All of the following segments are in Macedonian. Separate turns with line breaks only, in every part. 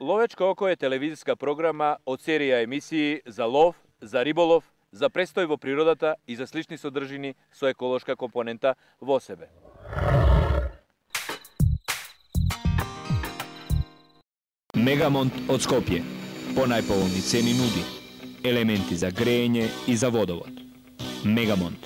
Ловечко око е телевизиска програма од серија емисии за лов, за риболов, за престој во природата и за слични содржини со еколошка компонента во себе.
Мегамонт од Скопје. По најповолни цени нуди елементи за грејење и за водовод. Мегамонт.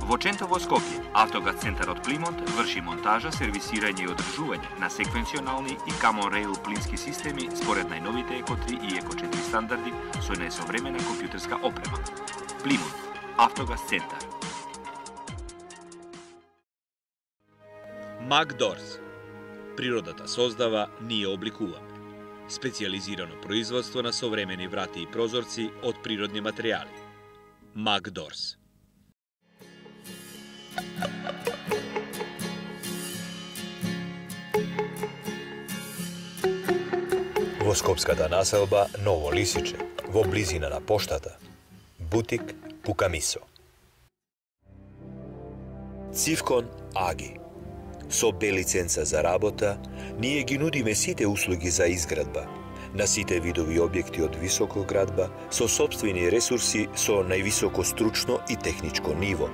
Во Чентово, Скопје, Автогаз центарот Плимонт врши монтажа, сервисирање и одржување на секвенционални и Common Rail плински системи според најновите Еко 3 и Еко 4 стандарди со најсовремена компјутерска опрема. Плимонт, Автогаз центар.
Макдорс. Природата создава, ние обликуваме. Специјализирано производство на современи врати и прозорци од природни материјали. Макдорс.
Во скопската населба Ново Лисиче, во близина на поштата, бутик Пукамисо. Цивкон Аги. Со Б лиценца за работа, ние ги нудиме сите услуги за изградба, на сите видови објекти од високоградба, со сопствени ресурси со највисоко стручно и техничко ниво,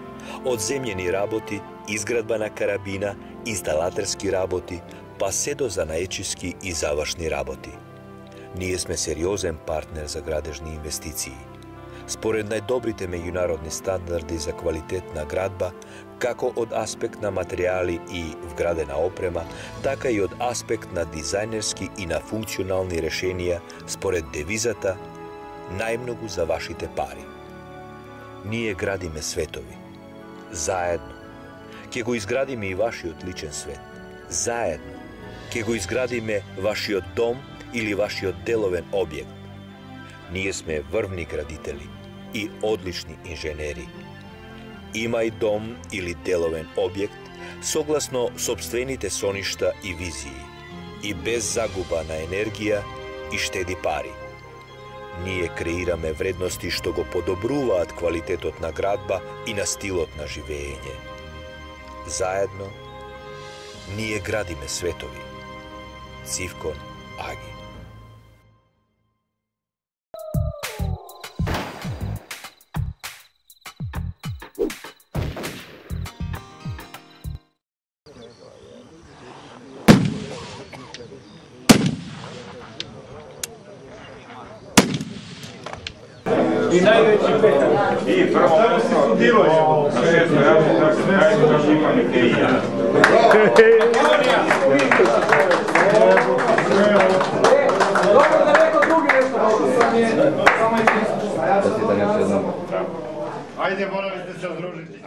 од земјени работи, изградба на карабина, инсталатерски работи, па се до занаечиски и завршни работи. Ние сме сериозен партнер за градежни инвестиции. Според најдобрите меѓународни стандарди за квалитет на градба, како од аспект на материјали и вградена опрема, така и од аспект на дизајнерски и на функционални решенија според девизата најмногу за вашите пари. Ние градиме светови. Заедно. Ке го изградиме и вашиот личен свет. Заедно. Ке го изградиме вашиот дом или вашиот деловен објект. Ние сме врвни градители и одлични инженери. Имај дом или деловен објект согласно сопствените соништа и визии и без загуба на енергија и штеди пари. Ние креираме вредности што го подобруваат квалитетот на градба и на стилот на живеење. Заедно, ние градиме светови. Цивкон Аги.
И највеќи петак. И прво се студирање. На шесто јас како имаме кеја.
Добро да некој други нешто.
Ајде, моравте се здружите.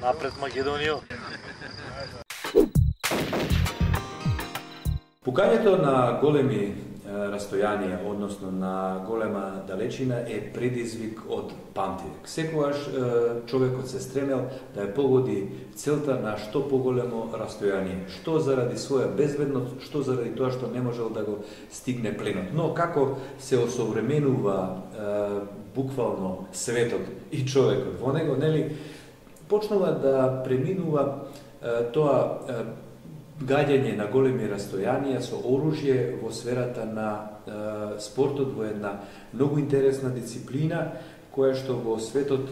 Напред Македонија.
Пукањето на големи растојанија, односно на голема далечина, е предизвик од памтивек. Секогаш човекот се стремел да ја погоди целта на што поголемо растојание, што заради своја безбедност, што заради тоа што не можел да го стигне пленот. Но како се осовременува буквално светот и човекот во него, нели, почнува да преминува тоа гаѓање на големи растојанија со оружје во сферата на спортот, во една многу интересна дисциплина, која што во светот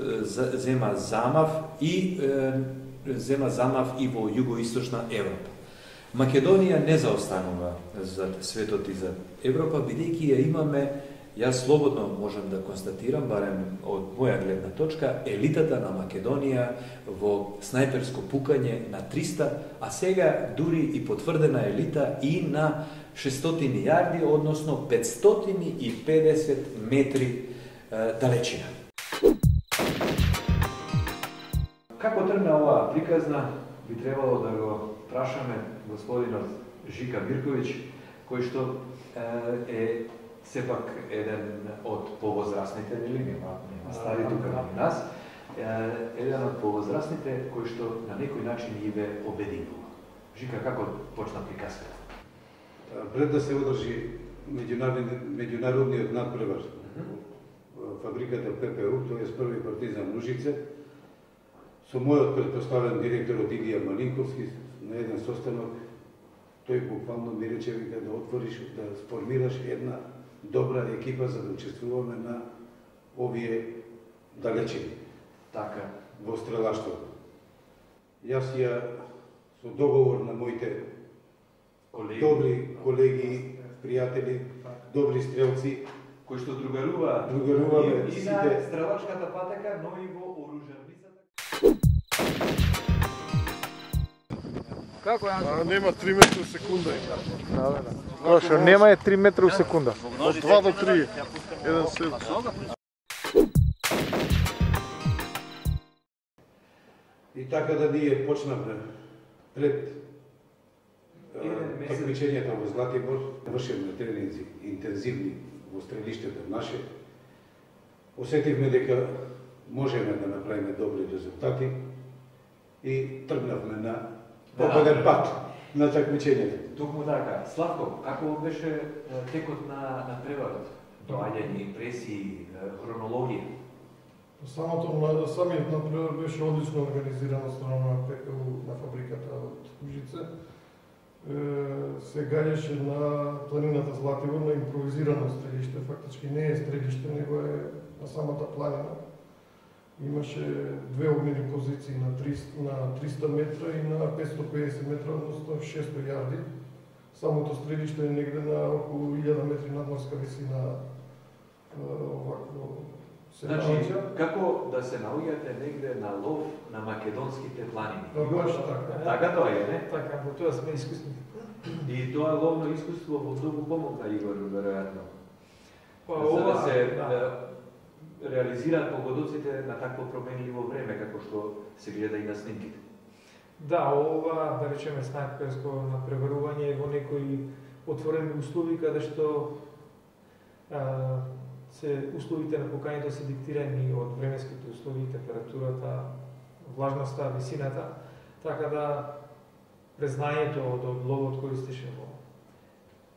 зема замав и во југоисточна Европа. Македонија не заостанува за светот и за Европа, бидејќи ја имаме, јас слободно можам да констатирам, барем од моја гледна точка, елитата на Македонија во снајперско пукање на 300, а сега дури и потврдена елита и на 600 јарди, односно 550 метри далечина. Како тргна оваа приказна, би требало да го прашаме господинот Жика Бирковиќ, кој што е сепак еден од повозрасните, нели, нема стари тука на нас, еден од повозрасните кој што на некој начин ги ве обединува. Жика, како почна приказката?
Пред да се одржи меѓународниот надпревар фабриката ППУ, тоа е први партизан Ужице, со мојот претпоставен директор од Игија Малинковски на еден состанок, тој буквално ми рече да отвориш, да сформираш една добра екипа за да учествуваме на овие далечини.
Така.
Во стрелаштвото. Јас ја со договор на моите добри колеги, пријатели, добри стрелци,
кои што другаруваме
и
на стрелачката патека, но и во оружарницата.
Како ја?
Нема 3 метра у секунда.
Да. Тоа што нема е 3 метра у секунда.
Од 2 до 3. Еден сет.
И така да ние почнавме пред такмичењето во Златибор, вршевме тренинзи интензивни во стрелиштето наше. Осетивме дека можеме да направиме добри резултати и тргнавме на победен пат на такмичењето.
Токму така. Славко, како беше текот на преварот? Доаѓање, импресии, хронологија?
Самиот напревар беше одлично организиран од страна на ППУ на фабриката од Ужице. Се гаѓаше на планината Златибор, на импровизирано стрелиште. Фактички не е стрелиште, него е на самата планина. Имаше две огнени позиции на 300 метра и на 550 метра, односно 600 јарди. Самото стрелиште е негде на околу 1000 метри надморска висина.
Значи, како да се наоѓате негде на лов на македонските планини?
Баш така.
Така тоа е, не?
Така, во тоа сме искусни.
И тоа ловно искуство во многу помогна Игор, веројатно.
За
да се реализираат погодоците на такво променливо време, како што се гледа и на снимките.
Да, ова, да речеме, снайперско напреварување во некои отворени услови, каде што условите на покањето се диктирани од временските услови, температурата, влажноста, висината, така да презнанието од ловот користеше во...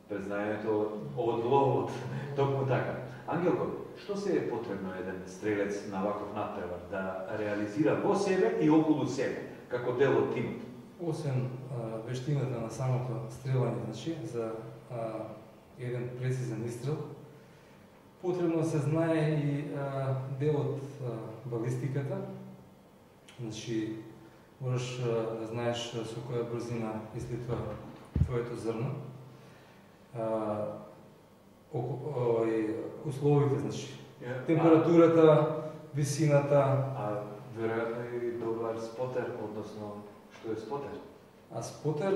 Презнанието од ловот, токму така. Ангелко, што се е потребно еден стрелец на ваков надпревар да реализира во себе и околу себе, како дел од тимот?
Освен вештината на самото стрелање, значи, за еден прецизен истрел, потребно се знае и дел од балистиката. Значи, можеш да знаеш со која брзина излетува твоето зрно. Условите, значи, температурата, висината.
Веројатно и добар спотер, односно, што е спотер?
Спотер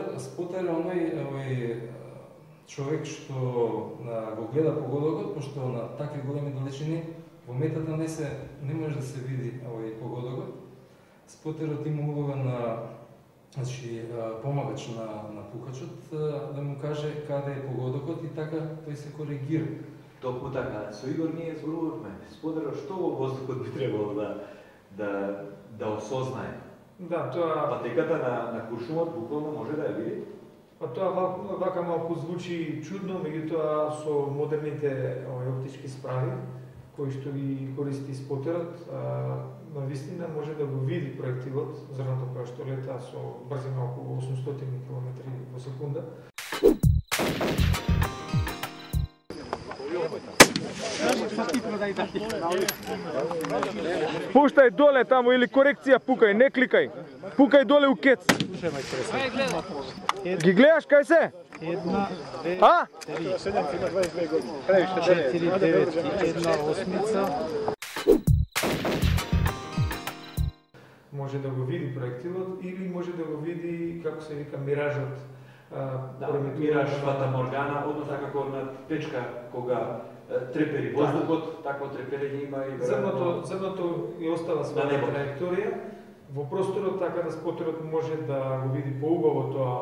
е оној човек што го гледа погодокот, пошто на такви големи далечини во метата не може да се види овој погодокот. Спотерот има улога на помагач на пукачот да му каже каде е погодокот и така тој се коригира.
Токму така, со Игор ние зборувавме. Спотерот што во воздухот би требало да осознае?
Да, тоа...
Патеката на куршумот буквално може да ја види?
Па тоа вака малку звучи чудно, меѓутоа со модерните оптички справи, кои што ги користи спотерот, на вистина може да го види проектилот, зрното кое што лета со брзина околу 800 км во секунда. Пуштај доле таму или корекција пукај, не кликај. Пукај доле у кец. Ги гледаш кај се?
1, 2, 3, 4, 9 и 1 осмица.
Може да го види проектилот или може да го види, како се вика, миражот.
Мираж, фатаморгана, односно како на печка кога трепери воздухот, такво треперење има и
зрното и остава своја траекторија во просторот, така да спотерот може да го види поубаво тоа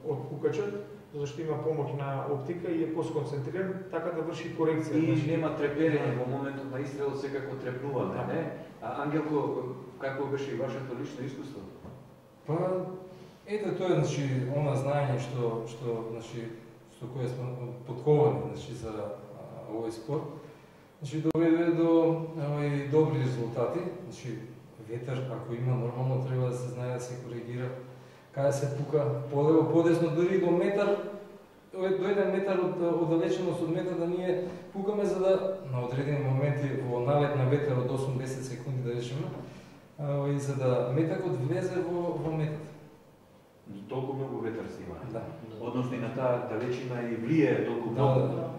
од пукачот, зашто има помоќ на оптика и е посконцентриран, така да врши корекција.
И нема треперење во моментот на истрел, секако трепнуваме, не? Ангелко, како беше и вашето лично искуство?
Па, ете тоа е, значи, она знаење што значи, со кое сме подковани, значи, за овој спорт. Значи доведе до добри резултати. Значи ветер ако има нормално треба да се знае да се коригира. Каде се пука полево, подесно, дури до метар, до 1 метар оддалеченост од метар да ние пукаме за да на одредени моменти во налет на ветер од 8-10 секунди да речеме, и за да метакот влезе во метат.
Толку многу ветер се има.
Да.
Односно и на таа далечина и влијае толку многу.
Да.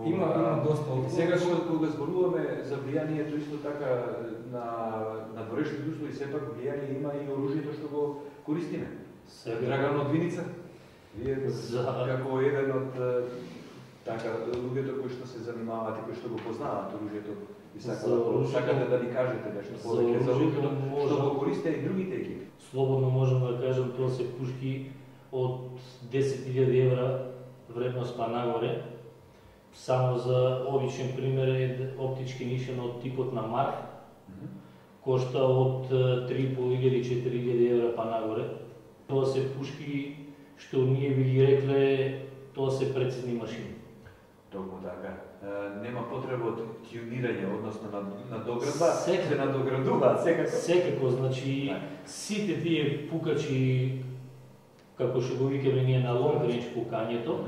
Има доста.
Сега кога зборуваме за влијанието исто така на дворешните услови, сепак влијание има и оружјето што го користиме. Драган од Виница, вие како еден од луѓето кои што се занимаваат и кои што го познаваат оружјето, сакате да ни кажете нешто повеќе за оружјето што го користеа и другите екипи?
Слободно можам да кажам, тоа се пушки од 10.000 евра вредност па нагоре. Само за обичен пример е оптички нишен од типот на Марк, кошта од 3.500-4.000 евра па нагоре. Тоа се пушки што ние би ги рекле, тоа се прецизни машини.
Толку така. Нема потреба од тюнирање, односно на доградба, се надоградуваат секако.
Секако, значи сите тие пукачи, како што го викаме ние на лонг рейндж пукањето,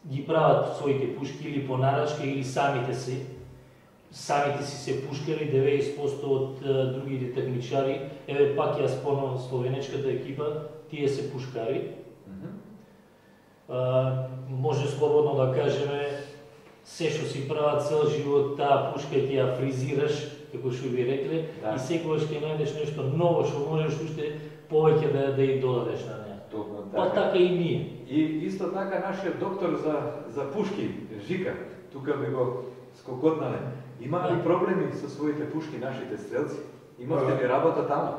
ги прават своите пушки или по нарачка или самите си се пушкали, 90% од другите такмичари, еве пак ја спомнам словенечката екипа, тие се пушкари. Може слободно да кажеме, се што си прават цел живот, таа пушка ќе ја фризираш, како што ви рекле, и секогаш ќе најдеш нешто ново што можеш уште повеќе да ја додадеш на неа. Па така и ние.
И исто така нашиот доктор за пушки, Жика, тука би го скокотнале. Има ли проблеми со своите пушки нашите стрелци? Имавте ли работа таму?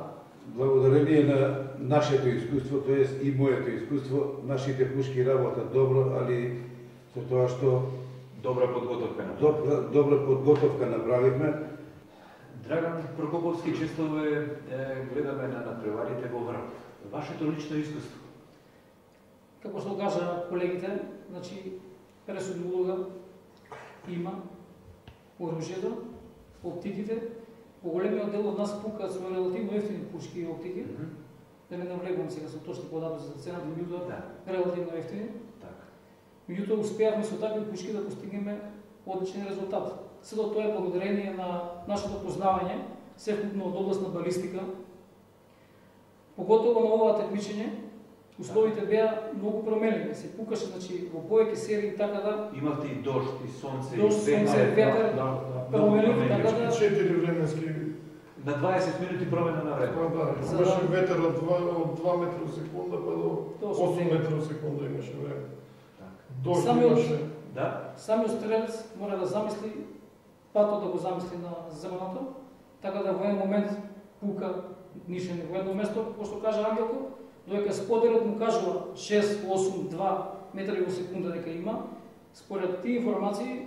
Благодарение на нашето искуство, тоест и моето искуство, нашите пушки работат добро, али со тоа што
добра подготовка направивме. Драган Прокоповски, често гледаме на надпреварите во врат. Вашето лично искуство?
Како што кажа колегите, значи пресудна улога има оружјето, оптиките. Поголемиот дел од нас пукаат со релативно ефтини пушки и оптики. Да не навлегувам сега со точни податоци за цената, меѓутоа релативно ефтини. Меѓутоа успеавме со такви пушки да постигнеме одличен резултат. Сето тоа е благодарение на нашето познавање, севкупно од област на балистика. Поготово на ова такмичење, условите беа многу променливи. Се пукаше, значи, во повеќе серии, така да...
Имавте и дожд, и сонце,
ветер, променливи, така да...
4 временски...
На 20 минути промена на време.
Да, имаше ветер од 2 метра секунда, па до 8 метра секунда имаше време. Дожд имаше.
Самиот стрелец мора да замисли, патот да го замисли на земјаното, така да во еден момент пука нишен во едно место, како што кажа Ангелко, додека споделот му кажува 6, 8, 2 метри во секунда дека има, според тие информации,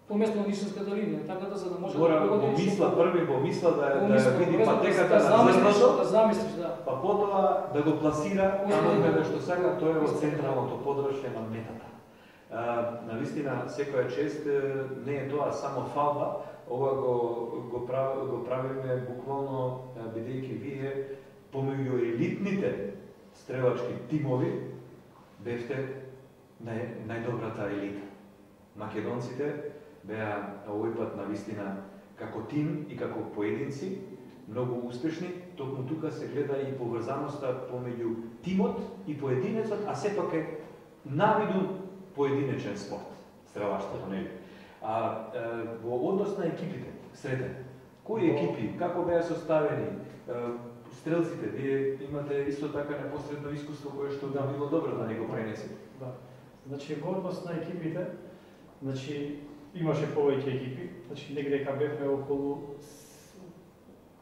по место на нишенската линија, така да за да може
да погоди... Први во мисла да види патеката на зрното,
да замислиш, да.
Па потоа да го пласира таму каде што сака, тоа е во централното подршје на метата. Навистина, секоја чест не е тоа само фалба, ова го правиме буквално бидејќи вие помеѓу елитните стрелачки тимови бевте најдобрата елита. Македонците беа овој пат навистина како тим и како поединци многу успешни, токму тука се гледа и поврзаноста помеѓу тимот и поединецот, а сепак е навиду поединечен спорт, стрелаштвото, нели? Во однос на екипите, сретен, кои екипи, како беа составени, стрелците, вие имате исто така непосредно искуство кое што би било добро да не го пренесете.
Да. Значи, во однос на екипите, значи, имаше повеќе екипи, значи, негде дека бевме околу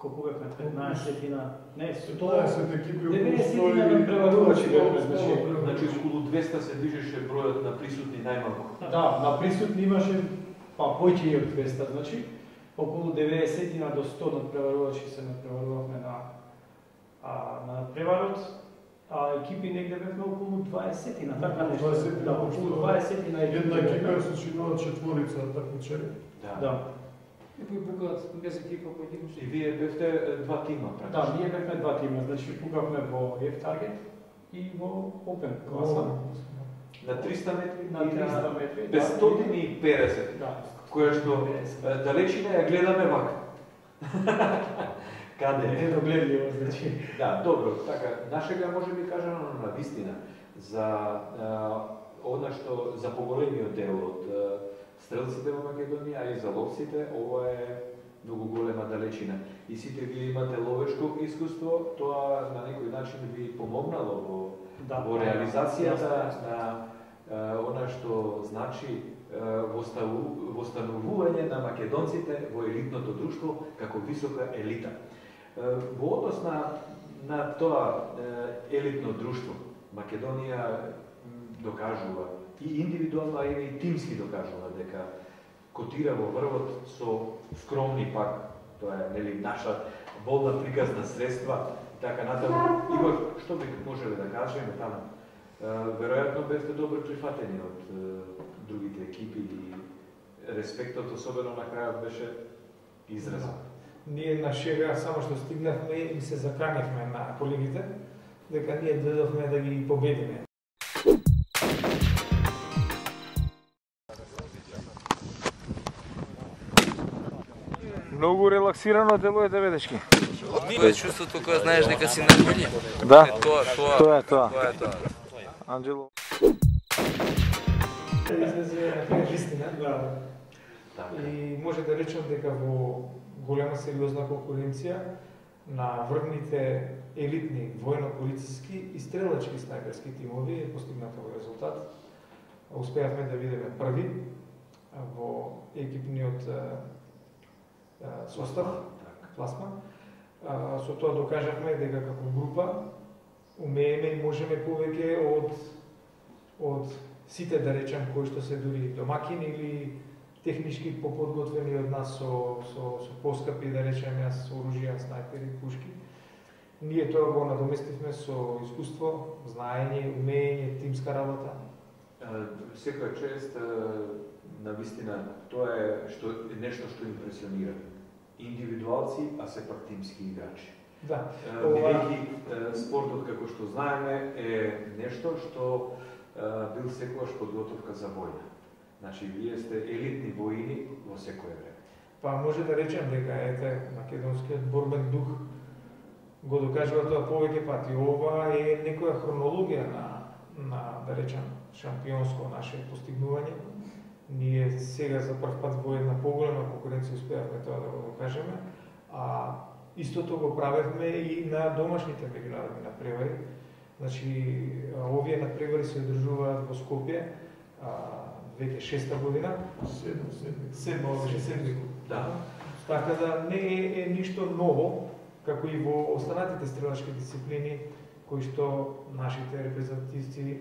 колку бевме, 15-тина, не,
15 екипи,
90-тина надпреварувачи бевме,
значи околу 200 се движеше бројот на присутни најмалку.
Да, на присутни имаше па поќе и од 200, значи околу 90-тина до 100 надпреварувачи се надпреварувавме на надпреварот А екипи негде бевме околу 20-на, така нешто.
20-на,
околу 20-на екипи.
Една екипа се сочинува четворица такмичари.
Да. И пукаат без екипа поединечно.
И вие бевте два тима практично.
Да, ние бевме два тима, значи пукавме во F-Target и во Open класа.
На 300 метри?
На 300 метри, да.
550.
Да.
Која што далечина ја гледаме вака. Каде?
Недогледливо, значи.
Да, добро, така, нашега може би кажано на вистина за она што за поголемиот дел од стрелците во Македонија, а и за ловците, ова е многу голема далечина. И сите вие имате ловешко искуство, тоа на некој начин ви помогнало во реализацијата на она што значи востанувување на македонците во елитното друштво како висока елита. Во однос на тоа елитно друштво, Македонија докажува и индивидуално, а и тимски докажува дека котира во врвот со скромни пак, тоа е нели наша волна приказна средства и така натаму. Игор, што би можеле да кажеме таму? Веројатно бевте добро прифатени од другите екипи и респектот особено на крајот беше изразен.
Ние на шега само што стигнавме и се заканевме на колегите дека ние дојдовме да ги победиме.
Многу релаксирано делувате, бедешки.
Тоа е чувството кога знаеш дека си најбољи.
Да.
Тоа
е тоа. Анджело.
Вистина. И може да речем дека во голема сериозна конкуренција на врвните елитни војно-полициски и стрелачки снајперски тимови е постигнат овој резултат. Успеавме да бидеме први во екипниот состав, пласма. Со тоа докажавме дека како група умееме и можеме повеќе од сите, да речем, кои што се дури домакини или технички поподготвени од нас со поскапи, да речем, со оружја, снајпери, пушки. Ние тоа го надоместивме со искуство, знаење, умење, тимска работа.
Секоја чест, на вистина, тоа е нешто што импресионира. Индивидуалци, а сепак тимски играчи.
Да.
Бидејќи спортот, како што знаеме, е нешто што бил секогаш подготовка за војна. Значи, вие сте елитни воини во секое време.
Па може да речем дека македонскиот борбен дух го докажува тоа повеќе пати. Ова е некоја хронологија на да речем, шампионско наше постигнување. Ние сега за прв пат во една поголема конкуренција успеавме тоа да го докажеме, а истото го правевме и на домашните меѓународни надпревари. Значи, овие надпревари се одржуваат во Скопје веќе 6-та година. Седми.
Да.
Така да не е ништо ново, како и во останатите стрелачки дисциплини кои што нашите репрезентативци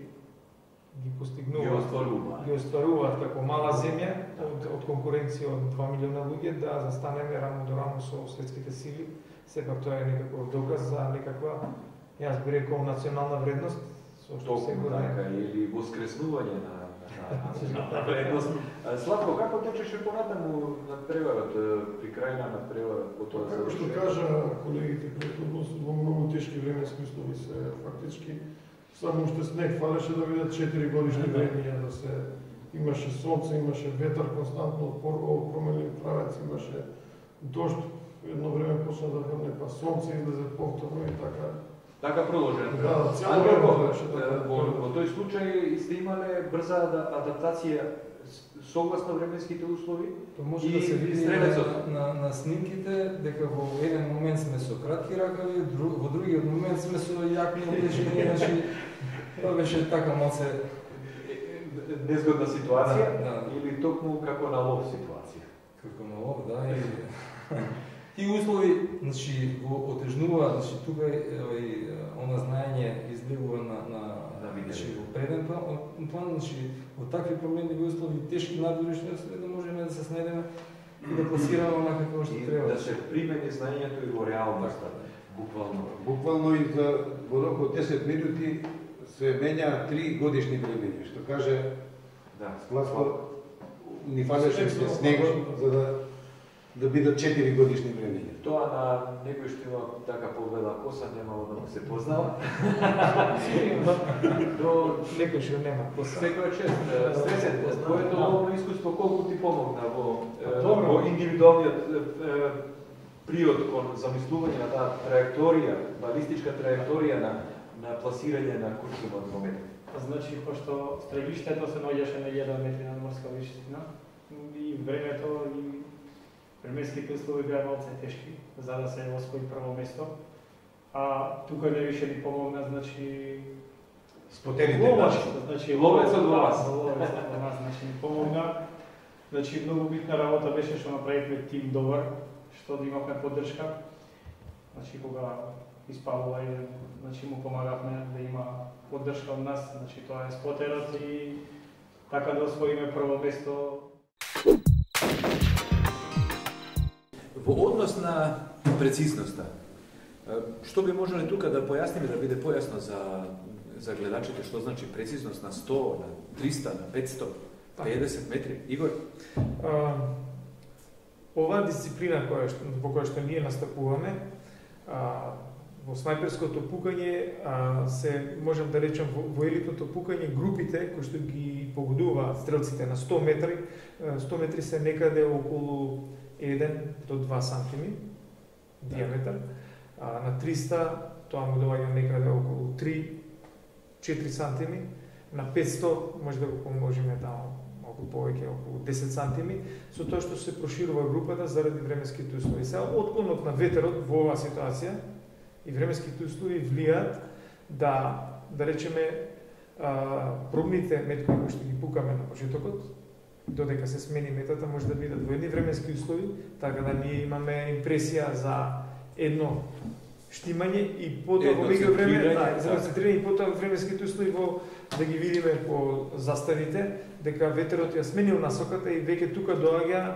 ги постигнуваат, ги остваруваат како мала земја од конкуренција од 2 милиона луѓе да застанеме рамо до рамо со светските сили. Сепак тоа е некаков доказ за некаква, јас би рекол, национална вредност, со што се
така, или воскреснување на вредност. Славко, како течеше понатаму надпреварот, при крај на надпреварот, по тоа
Како што кажа колегите претходно, во многу тешки временски услови се фактички само уште снег фалеше да видат 4 годишни времења, да се имаше сонце, имаше ветар константно од променлив правец, имаше дожд, едно време почна да врне, па сонце излезе повторно и така.
Така продолжено.
Да, цяло време беше така.
Во тој случај сте имале брза адаптација согласно временските услови
може да се види на снимките дека во еден момент сме со кратки ракави, во другиот момент сме со јакни облечени, значи тоа беше така малце
незгодна ситуација или токму како на лов ситуација.
Како на лов, да, и тие услови, значи го отежнуваат, значи тука она знаење изливува на во преден план, значи во такви променливи услови, тешки надворешни услови, да можеме да се снајдеме и да пласираме онака како што треба.
Да се примени знаењето и во реалноста.
Буквално и во рок од 10 минути се менја 3 годишни времења, што каже Славко, ни фалеше снего за да бидат 4 годишни времења.
Тоа на некој што има така побела коса немало да му се познава.
До некој што нема коса.
Секоја чест. Стресен, твоето ловно искуство колку ти помогна во индивидуалниот приод кон замислување на таа траекторија, балистичка траекторија на пласирање на куршумот во метри?
Значи, пошто стрелиштето се наоѓаше на 1 метри над морска вишина и времето и временските услови беа малце тешки за да се освои прво место. А тука не више ни помогна, значи
спотерите
значи
ловецот во вас.
Ловецот во нас, значи ни помогна. Значи многу битна работа беше што направивме тим добар, што да имавме поддршка. Значи кога испалува еден, значи му помагавме да има поддршка од нас, значи тоа е спотерот и така да освоиме прво место.
Во однос на прецизноста, што би можеле тука да појасниме, да биде појасно за гледачите, што значи прецизност на 100, на 300, на 500, 50 метри? Игор?
Оваа дисциплина во која што ние настапуваме, во снайперското пукање се, можем да речем, во елитното пукање, групите кои што ги погодуваат стрелците на 100 метри, 100 метри се некаде околу 1 до 2 сантими диаметар, на 300 тоа му доаѓа некаде околу 3-4 сантими, на 500 може да го помножиме таму околу повеќе, околу 10 сантими, со тоа што се проширува групата заради временските услови. Сега, отклонот на ветерот во оваа ситуација и временските услови влијаат да речеме, пробните метки кои што ги пукаме на почетокот, додека се смени метата, може да бидат во едни временски услови, така да ние имаме импресија за едно штимање и потоа во меѓувреме, за концентрирање и потоа временските услови да ги видиме по заставите, дека ветерот ја сменил насоката и веќе тука доаѓа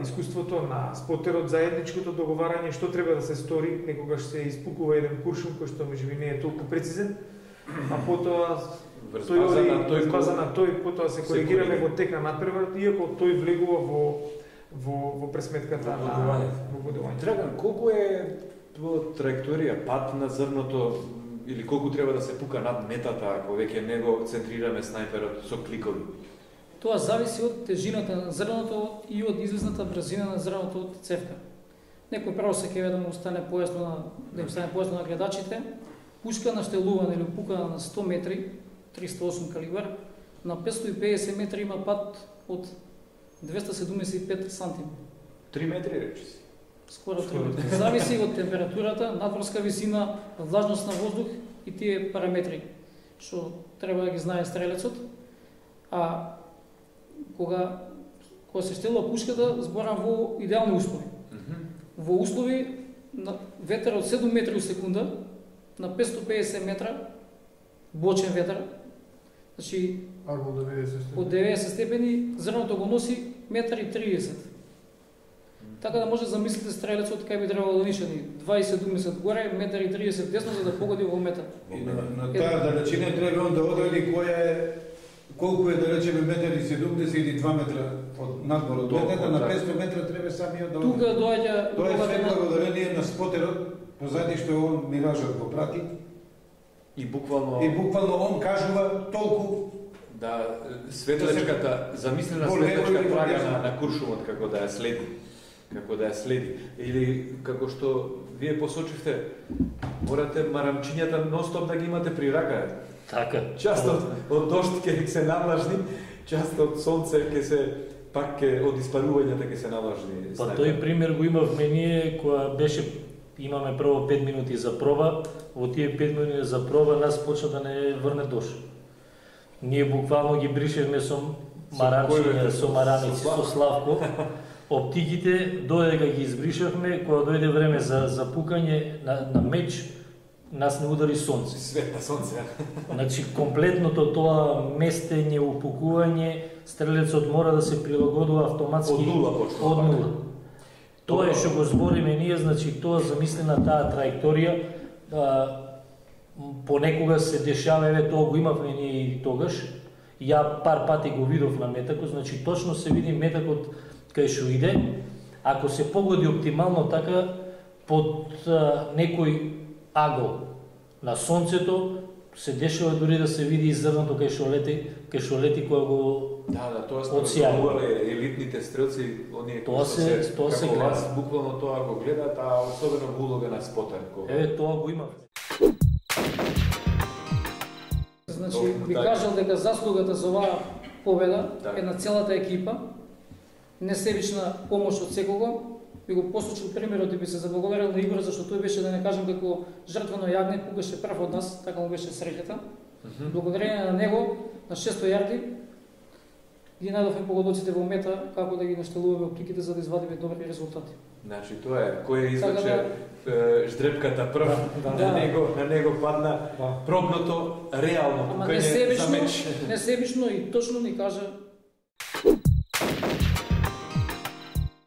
искуството на спотерот, заедничкото договарање што треба да се стори, некогаш се испукува еден куршум кој што можеби не е толку прецизен, а потоа база на тој потоа се коригираме во тек на надпреварот, иако тој влегува во пресметката на бодување.
Драган, колку е траекторија, пат на зрното, или колку треба да се пука над метата, ако веќе не го центрираме снайперот со кликови?
Тоа зависи од тежината на зрното и од излезната брзина на зрното од цевка. Некој право се кеве да му стане појасно на гледачите. Пушка наштелувана или пукана на 100 метри, 308 калибар, на 550 метри има пат од 275 сантими.
3 метри речи си?
Скоро 3 метри. Зависи од температурата, надморска висина, влажност на воздух и тие параметри, што треба да ги знае стрелецот. А кога се штелува пушката, зборам во идеални услови. Во услови на ветер од 7 метри во секунда, на 550 метра, бочен ветер, значи од 90 степени, зрното го носи 1,30 м. Така да може да замислите стрелецот кај би требало да нишани 20 горе, 1,30 м десно за да погоди во мета.
На таа далечина треба он да одреди колку е, да речеме, 1,70 или 2 метра од надмор од метата, на 500 метра треба самиот да одреди.
Тука доаѓа...
Тоа е све благодарение на спотерот, позади што он миражот го прати.
И буквално
он кажува толку.
Да, светлечката, замислена светлечка трага на куршумот како да ја следи. Или како што вие посочивте, морате марамчињата ностоп да ги имате при рака.
Така.
Част од дожд ќе се навлажни, част од сонце ќе се пак од испарувањата ќе се навлажни.
Па тој пример го имавме ние која беше, имаме прво 5 минути за проба, во тие 5 минути за проба нас почна да не врне дожд. Ние буквално ги бришевме со марамчиња, со марамици, со Славко. Оптиките, додека ги избришавме, кога дојде време за пукање на меч, нас не удари сонце.
Свет на сонце.
Значи, комплетното тоа местење, упукување, стрелецот мора да се прилагодува автоматски
од нула почнува.
Од нула. Тоа е што го збориме ние, значи тоа замислена таа траекторија, понекога се дешава, еве тоа го имавме ние и тогаш. Ја пар пати го видов на метакот, значи точно се види метакот кај што иде. Ако се погоди оптимално така под некој агол на сонцето, се дешава дури да се види и зрното кај што лети кога го
тоа сме елитните стрелци, оние кои што се како вас буквално тоа го гледат, а особено во улога на спотер.
Еве тоа го имаме.
Значи, би кажал дека заслугата за оваа победа е на целата екипа, несебична помош од секого. Би го посочил примерот и би се заблагодарил на Игор, зашто тој беше, да не кажем, како жртвено јагне, пугаше прв од нас, така му беше среќата. Благодарение на него, на 600 јарди, ги најдовме погодоците во мета, како да ги наштелуваме оптиките за да извадиме добри резултати.
Значи тоа е, кој извлече ждрепката прв, на него падна пробното реално пукање за меч.
Несебично и точно ни кажа.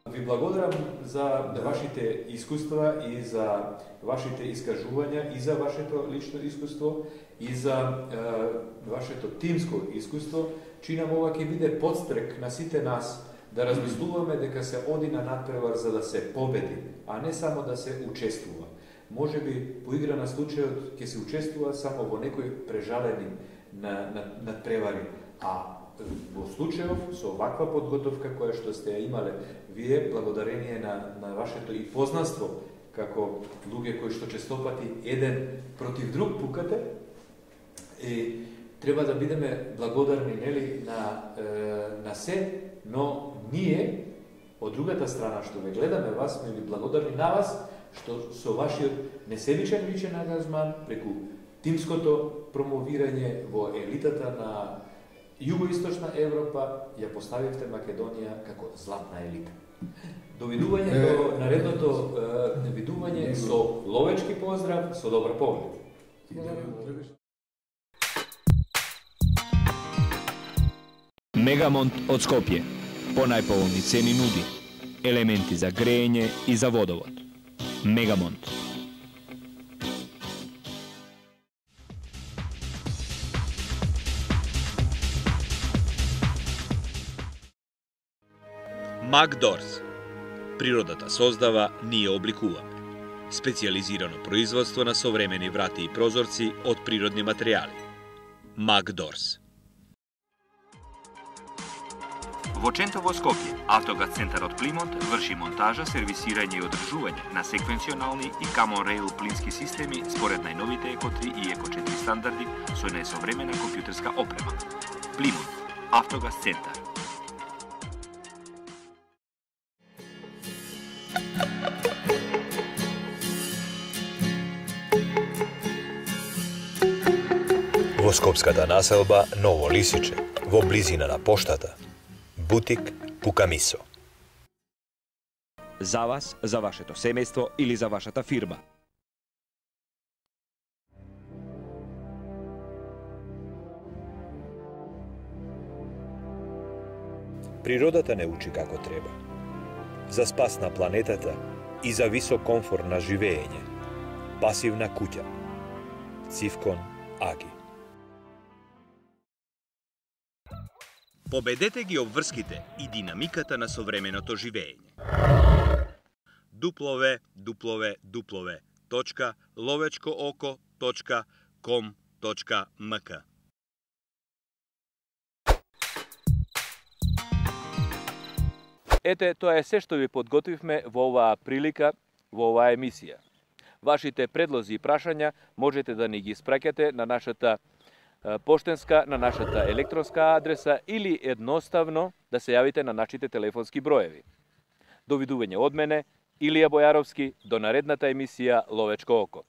Ви благодарам за вашите искуства и за вашите искажувања и за вашето лично искуство и за вашето тимско искуство, чинам ова ќе биде подстрек на сите нас да размислуваме дека се оди на надпревар за да се победи, а не само да се учествува. Може би по игра на случајот ќе се учествува само во некои прежалени надпревари, а во случајов со ваква подготовка која што сте ја имале вие, благодарение на вашето и познанство како луѓе кои што честопати еден против друг пукате, и треба да бидеме благодарни, нели, на се, но ние од другата страна што ве гледаме вас, сме ви благодарни на вас што со вашиот несебичен личен ангажман преку тимското промовирање во елитата на Југоисточна Европа ја поставивте Македонија како златна елита. Довидување до наредното видување со ловечки поздрав, со добар поглед.
Мегамонт од Скопје. По најповолни цени нуди елементи за грејење и за водовод. Мегамонт. Макдорс. Природата создава, ние обликуваме. Специјализирано производство на современи врати и прозорци од природни материјали. Макдорс.
Во Чентово Скопје, Автогаз центарот Плимонт врши монтажа, сервисирање и одржување на секвенционални и Common Rail плински системи според најновите Еко 3 и Еко 4 стандарди со најсовремена компјутерска опрема. Плимонт, Автогаз центар.
Во скопската населба Ново Лисиче, во близина на поштата, бутик Пукамисо.
За вас, за вашето семејство или за вашата фирма.
Природата не учи како треба. За спас на планетата и за висок комфорт на живење. Пасивна куќа. Цивкон Аги.
Победете ги обврските и динамиката на современото живење. www.lovečkooko.com.mk
Ете, тоа е се што ви подготвивме во оваа прилика, во оваа емисија. Вашите предлози и прашања можете да ни ги испраќате на нашата поштенска, на нашата електронска адреса или едноставно да се јавите на нашите телефонски броеви. Довидување од мене, Илија Бојаровски, до наредната емисија Ловечко око.